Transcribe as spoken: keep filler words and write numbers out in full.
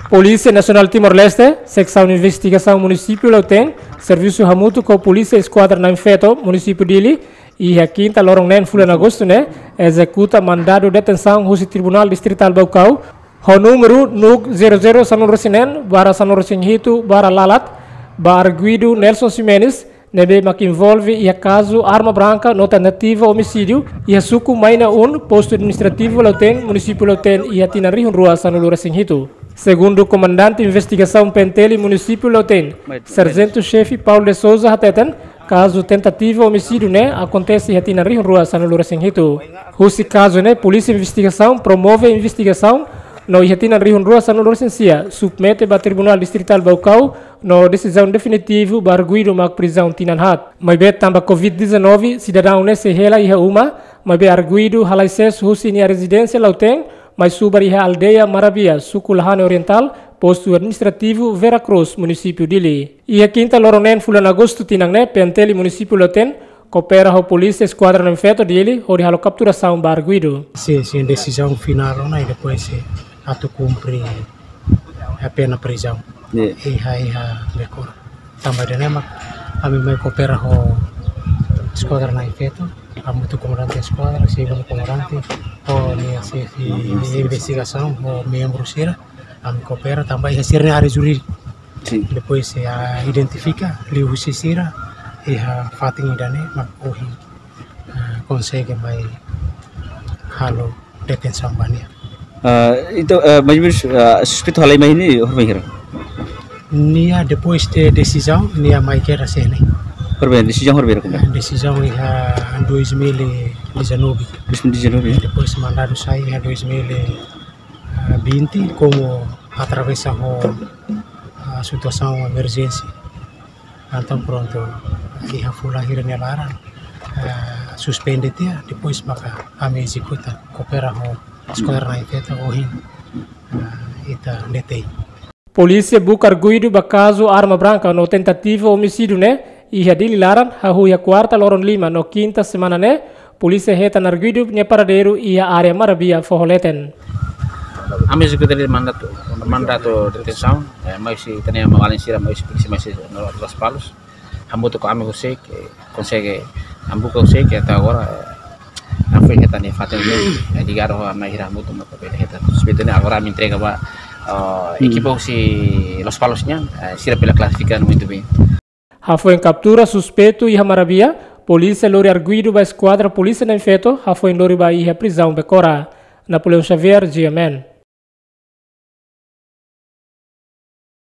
Polísia Nasionál Timor-Leste, Seksaun Investigasaun Munisípiu Lautém, servisu hamutuk ho Polísia Eskuadra Na'in Feto, Munisípiu Dili, iha kinta loron neen fulan Agostu ne'e, ezekuta mandadu detensaun husi Tribunál Distritál Baucau, ho númeru NUC zero zero sanulu-resin-neen barra sanulu-resin-hitu barra lalat, ba arguidu Nelson Ximenes, ne'ebé mak envolve iha kazu arma branka no tentativa omisídiu iha suku Maina Un, postu administrativu Lautém, munisípiu Lautém, iha tinan rihun rua sanulu-resin-hitu. Segundu komandante investigasaun P N T L munisípiu Lautém, Sarjentu Xefe Paulo de Souza hateten, kazu tentativa omisídiu ne'e akontese iha tinan rihun rua sanulu-resin-hitu. Husi kazu ne'e, polísia investigasaun promove investigasaun no iha tinan rihun rua sanulu-resin-sia submete ba Tribunál Distritál Baucau no desizaun definitivu ba arguidu mak prizaun tinan haat. Maibé tanba covid dezanove, sidadaun ne'e sei hela iha uma, maibé arguidu halai sees husi nia rezidénsia Lautém, mai subar iha aldeia Marabia, suku Lahane Orientál, postu administrativu Vera Cruz, munisípiu Dili. Iha kinta loron neen fulan Agostu tinan ne'e, P N T L munisípiu Lautém koopera ho Polísia Eskuadra Na'in Feto Dili hodi halo kapturasaun ba arguidu. Sin, sin, desizaun finál ona i depois, eh, atu kumpre a pena prizaun. Iya. Iha, iha Becora. Tanba ida-ne'e mak ami mai koopera ho Eskuadra Na'in Feto, hamutuk komandante eskuadra, segundu komandante, ho nia xefe investigasaun, ho membru sira, ami koopera tanba iha sira-nia área jurídiku. Sin. Depois, eh, identifika liuhusi sira iha fatin ida-ne'e mak ohin, eh, konsege mai halo detensaun ba nia. Ah, entaun, ah, mais ou menos, ah, suspeitu halai mai ne'e, horibainhira? Nia depois de desizaun, nia mai kedas iha ne'e. Horibainhira, desizaun horibainhira komesa? Eh, desizaun iha dois mil e dezanove. Dois mil e dezanove, ya? Depois mandadu sai iha dois mil e vinte, komu atravesa ho, ah, situasaun emerjénsia. Entaun prontu, iha fulan hira nia laran, eh, suspende tiha, depois maka ami ezekuta, koopera ho Eskuadra Na'in Feto ohin, eh, ita detein. Polísia buka arguidu ba kazu arma branka no tentativa omisídiu ne'e iha Dili laran, hahú iha kuarta loron lima no kinta semana ne'e, polísia hetan arguidu nia paradeiru iha área Marabia foho leten. Ami ezekuta de'it mandatu, mandatu detensaun, eh, mai husi ita-nia maun-alin sira, mai husi polísia, mai husi no Lospalos. Hamutuk ho ami husik, eh, konsege hambuka husik, até agora, eh, ami foin hetan iha fatin ne'e, eh, ligadu ho ami hira hamutuk maka bele hetan. Suspeitu ne'e agora ami entrega ba, eh, ekipa husi Lospalos nian, eh, sira bele klasifika muito bem. Hafoin kaptura suspeitu iha Marabia, polísia lori arguidu ba Eskuadra Polísia Na'in Feto, hafoin lori ba iha prizaun Becora. Napoleão Xavier, G M N.